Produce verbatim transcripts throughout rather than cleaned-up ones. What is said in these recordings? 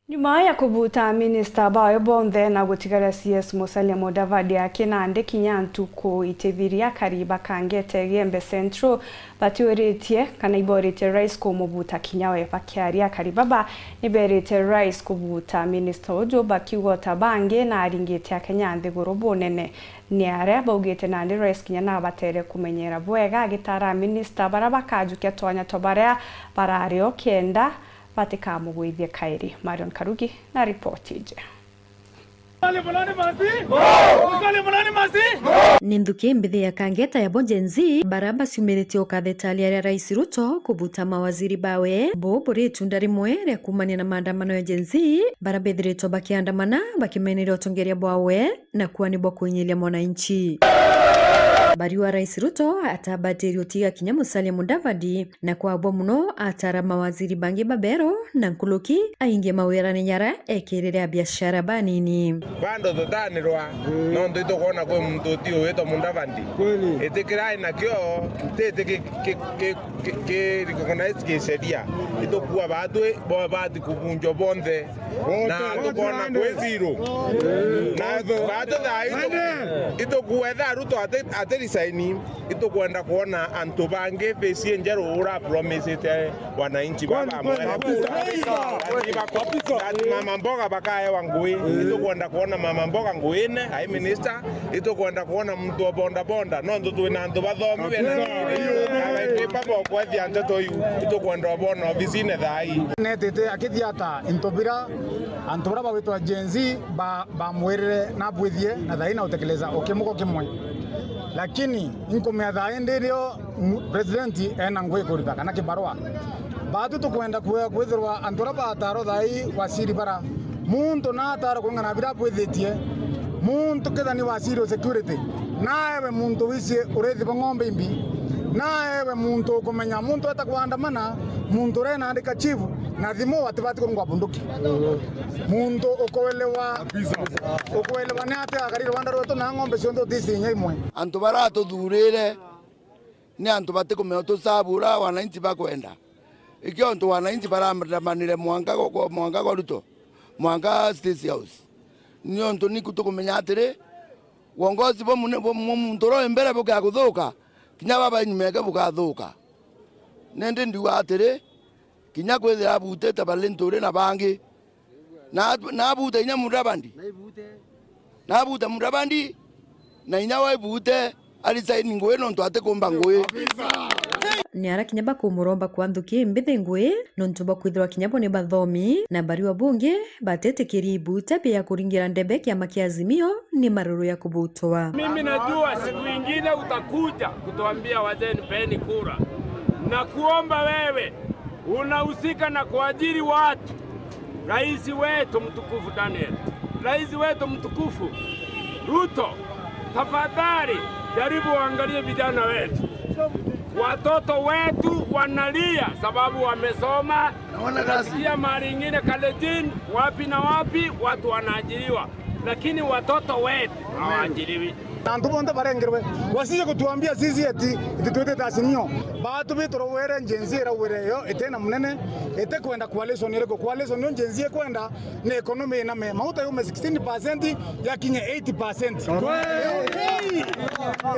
Nyuma ya kubuta minista bawe bonthe na gutigaria C S Musalia Mudavadi aki nandi kinya ntuku itithiria, akari ba Kangeta Igembe Central batiuritie kana iboritie rais kumubuta kinya we. Bakiaria, akari baba niberite rais kubuta minista uju, bakiuga ota bangi na aringite Akenya nthiguru bunene. Ni aria baugite nandi rais kinya nabatere kumenyera bwega, agitara minista baria bakajukia twanya twa baria barari o kenda batikamugwithie kairi. Marion Karugi na ripoti iji. Ni nthuki mbithi ya Kangeta ya bo Gen Z, baria baciumiritie ukathetalia ria Rais Ruto kubuta mawaziri bawe. Bo buri itunda rimwe ria kuumania na maandamano ya Gen Z, baria bethiritwe bakiandamana bakimeneria utongeria bwawe na kuani bwa kuinyiria mwananchi. Bariua Rais Ruto atabatirie utiga kinya Musalia Mudavadi, na kwabwa muno atara mawaziri bangi baberu na nkuruki aingie mawirane jaria ekirire a biashara banini. Bando tutanirwa, nontu itukwona kwi muntu utiu witwa Mudavadi. Kweli. Itikirai nakio, ntiti ki-, ki-, ki-, ki-, ki-, recognize kisheria. Itukua batwi bo bati kubunjwa bonthe. Na tukona kwi zero. Na batu thaa itu-, itukua etha Ruto ati, ati resign, itukwenda kwona antu bangi face injeru ura promisite wananchi baba mwere. Kabisa. Ati mama mboga bakaewa ngui. Itukwenda kwona mama mboga nguine, ai minister. Itukwenda kwona muntu wa boda boda, nontu twina antu bathomi bena na baingi babokwethia nteto iu. Itukwenda ubona obisine thaa ii. Netete akithia ata into bira antu baria bagwitwa Gen Z ba-, bamwirire nabwithie na thaa ii na utekeleza o kimugo kimwe. Lakini inkumea thaa ii ndirio mu-, president ena ngui kuruta kana kibarua. Batu tukwenda kwe-, kwithirwa antu aria bataro thaa ii wasiri bara. Muntu nataro kung'ana bira bwithitie. Muntu kethira ni wasiri o security. Naewe muntu wisi urithi bwa ng'ombe imbi. Naewe muntu ukumenya muntu eta kwandamana, muntu uria naandika chief, na thimu atibati kurungwa bunduki. Muntu ukuelewa, ukuelewa ni ati akari Rwanda rwetu na ng'ombe cionthe utisi inya imwe. Antu baratuthurire ni antu batikumenya utusabu uria wananchi bakwenda. Ikio antu wananchi barandamanire mwanka gwa, gwa, mwanka gwa Ruto, mwanka State House. Ni untu niku tukumenya atiri, uongozi bwa mune-, bwa mu-, muntu uria wi mbere bukia kuthuka, kinya baba inyuma yake bukathuka. Nindi ndiuga atiri, kinya kwithira abutite bari nturi na bangi, na, na abuta inya Mudavadi. Na abuta Mudavadi, na inya waibute, arisaini ngui nontu atikumba ngui. Ni ara kinya bakumuromba kwa nthuki mbithi ngui, nontu bakwithirwa kinya bo ni bathomi, na bariua bungi batetikirie ibuta bia kuringira ndebe kiama kia Azimio ni maruru ya kubutwa. Mimi najua siku ingine utakuja kutuambia wazee nipeni kura. Na kuomba wewe unahusika na kuajiri watu. Rais wetu mtukufu Daniel, rais wetu mtukufu Ruto, tafadhali jaribu uangalie vijana wetu. Watoto wetu wanalia sababu wamesoma, hawana kazi. Nasikia mahali ingine Kalenjin, wapi na wapi, watu wanaajiriwa, lakini watoto wetu hawaajiriwi. Na antu bonthe barengerwe, wasije kutuambia sisi eti, eti twitite Azimio. Batu bitu rawere, Gen Z rawere yo, itena munene, ite kwenda coalition iriku. Coalition yo Gen Z ikwenda ni economy iname. Mauta yume sixteen percent, yakinye eight percent. Kweli.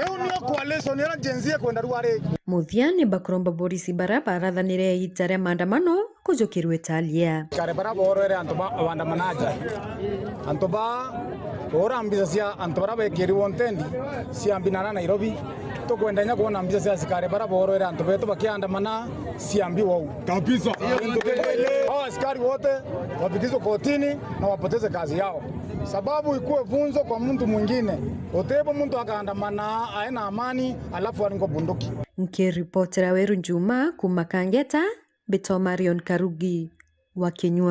Iu niyo coalition ira Gen Z ikwenda ruari. Muthia ni bakuromba borisi bara barathanire ita ria maandamano kujukirwe Italia. Kare bara borwere antu ba waandamanaji. Antu ba ura mbica cia antu bara bekiriwe ntendi cia mbi na Nairobi. Tukwenda inya kwona mbica cia asikari bara borwere antu betu bakiandamana cia mbi wau. Kabisa. Hao askari wote wafikishwe kotini na wapoteze kazi yao. Sababu ikuwe funzo kwa mtu mwingine. Utebo mtu akaandamana ae na amani alafu aringwe bunduki. Nkiripotera Weru Njuma kuma Kangeta, mbitwa Marion Karugi wa Kinyua.